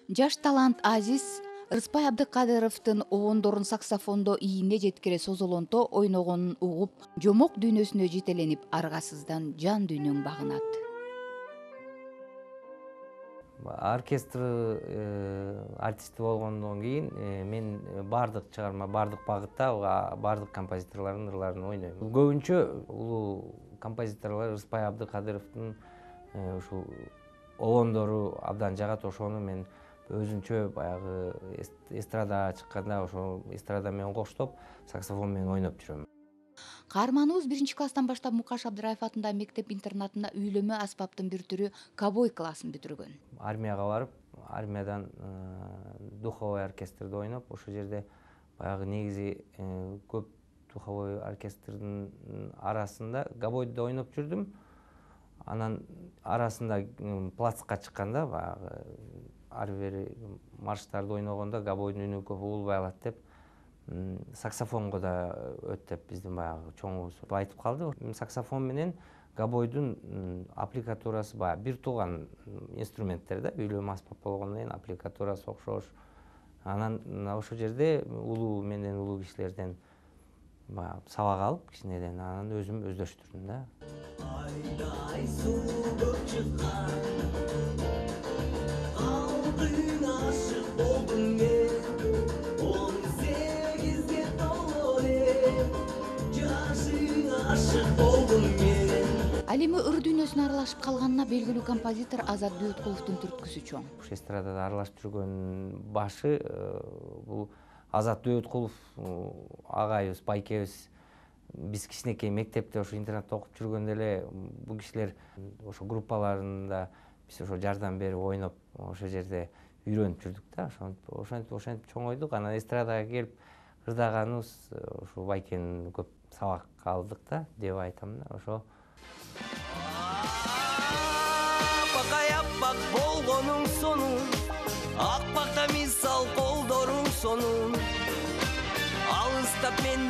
Жаш талант Азиз Рыспай Абдыкадыровдун обондорун саксофондо ийине жеткире созолонто ойногонун угуп, жомок дүйнөсүнө жетеленип, аргасыздан жан дүйнөң багынат. Оркестр артисти болгондон кийин мен бардык чыгарма, бардык багытта, бардык композиторлордун ырларын ойнойм. Көбүнчө улуу композиторлор Рыспай Абдыкадыровдун ушул обондору абдан жагат. Ошону мен өзүнчө баягы эстрадага чыкканда ошо эстрада менен коштоп, саксофон менен ойноп жүрөм. Каарманыбыз 1-класстан баштап Мукаш Абдыраев атындагы мектеп-интернатында үйлөмө аспаптын бир түрү кобой классын бүтүргөн. Армияга барып, армиядан духовой оркестрде ойноп, ошол жерде баягы негизи көп духовой оркестрдин арасында гобойду да ойноп жүрдүм. Анан арасында плацка чыкканда, баягы ар бир марштарды ойногондо гобойдун үнү көп угулбай калат деп, саксофонго да өт деп биздин баягы чоңубуз айтып калды. Саксофон менен гобойдун аппликатурасы баягы бир тууган инструменттер да, үйлөмө аспап болгондон кийин аппликатурасы окшош. Анан ошол жерде улуу менден улуу кишилерден баягы сабак алып, кичинеден анан өзүм өздөштүрдүм да. Айдай суу көк чыккан, калдың ашык болдум мен, 18-ге толгон элем, жашың ашык болдум мен. Ал эми ыр дүйнөсүнө аралашып калганына белгилүү композитор Азат Дөөткуловдун түрткүсү чоң. Ушу эстрадада аралашып жүргөн башы бул Азат Дөөткулов агайыбыз, байкебиз. Биз кичинекей мектепте ошо интернатта окуп жүргөндө эле бул кишилер ошо группаларында биз ошо жардам берип ойноп, ошол жерде үйрөнүп жүрдүк да. Ошентип чоңойдук. Анан эстрадага келип ырдаганыбыз ошо байкенин көп сабак алдык да деп айтам да. Ошо аппак болгонуң сонун, акпакта мисал колдоруң сонун, алыстап мен